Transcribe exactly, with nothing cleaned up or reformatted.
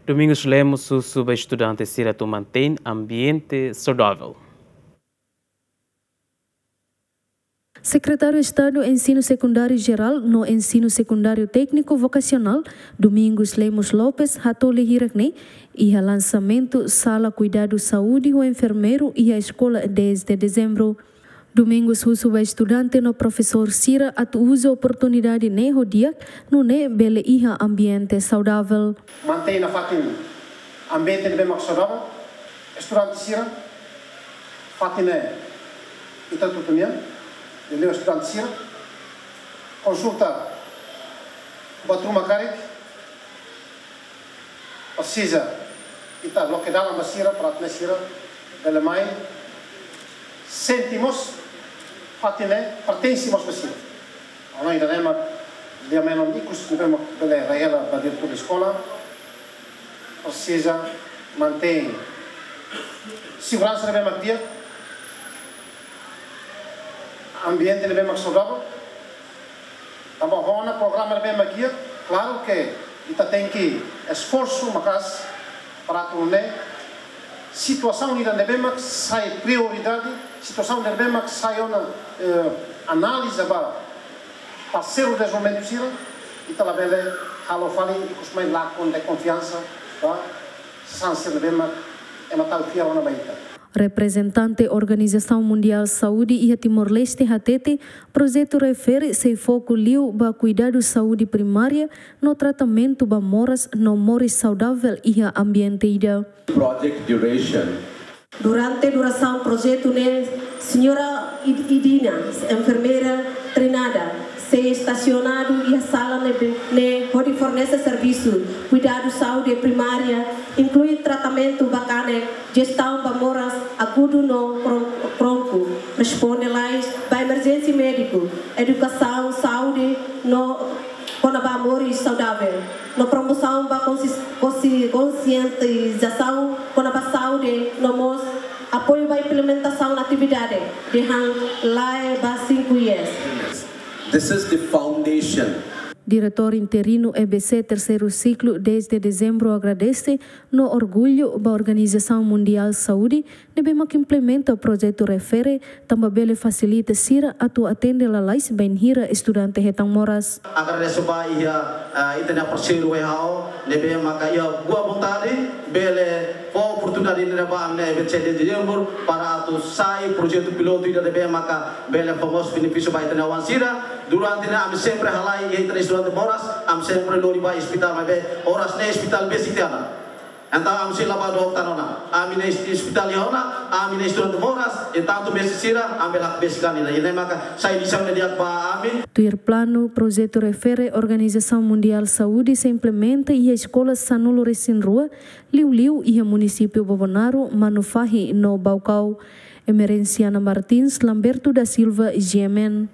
Domingos Lemos husu ba estudante sira atu mantein ambiente saudável. Sekretáriu Estadu Ensinu Sekundáriu Jerál no Ensinu Sekundáriu Tékniku Vokasionál, Domingos Lemos Lopes, hato'o lia hirak-ne'e iha lansamentu Sala Kuidadu Saúde ho Enfermeiru iha Eskola dez de Dezembro. Domingos husu ba estudante no profesór sira atu uza oportunidade ne'e ho di'ak, nune'e bele iha ambiente saudável. Mantein nafatin ambiente ne'ebé mak saudável, estudante sira, fatin ne'e ita hotu-hotu nian, liuliu estudante sira, konsulta buat ruma karik, presiza ita loke dalan ba sira, para atu nune'e sira bele mai sente mós fatin ne'e pertense mós ba sira. Ona ida-ne'e mak lia menon ikus ne'ebé mak bele rai hela ba diretór eskola, presiza mantein seguransa ne'ebé mak di'ak, ambiente ne'ebé mak saudável. Tanba ho ona programa ne'ebé mak iha, klaru ke ita tenke esforsu maka'as para atu nune'e situasaun ida ne'ebé mak sai prioridade, situasaun ne'ebé mak sai ona, eh, analiza ba parseiru dezenvolvimentu sira, ita labele halo fali ikus mai lakon de konfiansa ba sasán sira ne'ebé mak ema tau fiar ona ba ita. Reprezentante Organizasaun Mundiál Saúde iha Timor-Leste hatete, projetu refere sei foku liu ba kuidadu saúde primária no tratamentu ba moras no moris saudável iha ambiente ida. Project duration. Durante durasaun projetu ne'e, Señora Id-, Idina, enfermeira treinada, sei estasionadu iha sala ne'ebé, ne'e hodi fornese servisu kuidadu saúde primária, inklui tratamentu ba kanek, jestaun ba moras agudu no kron-, kronku, responde lais ba emerjénsia médiku, edukasaun, saúde no kona-ba moris saudável, no promosaun ba konsis-, konsi-, konsientizasaun kona-ba saúde, no mós apoiu ba implementasaun atividade dehan lae ba cinco I's. This is the foundation. Diretór interinu E B C terseiru siklu dez de Dezembro agradese no orgullu ba Organizasaun Mundiál Saúde ne'ebé mak implementa projetu refere, tanba bele fasilita sira atu atende lalais bainhira estudante hetan moras. Agradese ba iha, eh, ita-nia parseiru W H O, ne'ebé maka iha boa vontade, bele fó oportunidade ne'e ba ami-nia E B C de Dezembro, para atu sai projetu pilotu ida ne'ebé maka bele fó mós benefísiu ba ita-nia oan sira. Durante ne'e ami sempre halai iha ita-nia estudante moras, ami sempre lori ba ospitál, maibé oras ne'e ospitál besik tiha ona. Entaun, ami sei la bá dook tan ona. Ami-nia ospitál iha ona, ami-nia estudante moras, e tantu mestre sira, ami la besik an ida. Ida-ne'e maka sai lisaun di'ak ba ami. Tuir planu, projetu refere Organizasaun Mundiál Saúde sei implementa iha eskola sanulu-resin-rua, liuliu iha munisípiu Bobonaro, Manufahi no Baucau. Emerenciana Martins, Lamberto da Silva, G M N.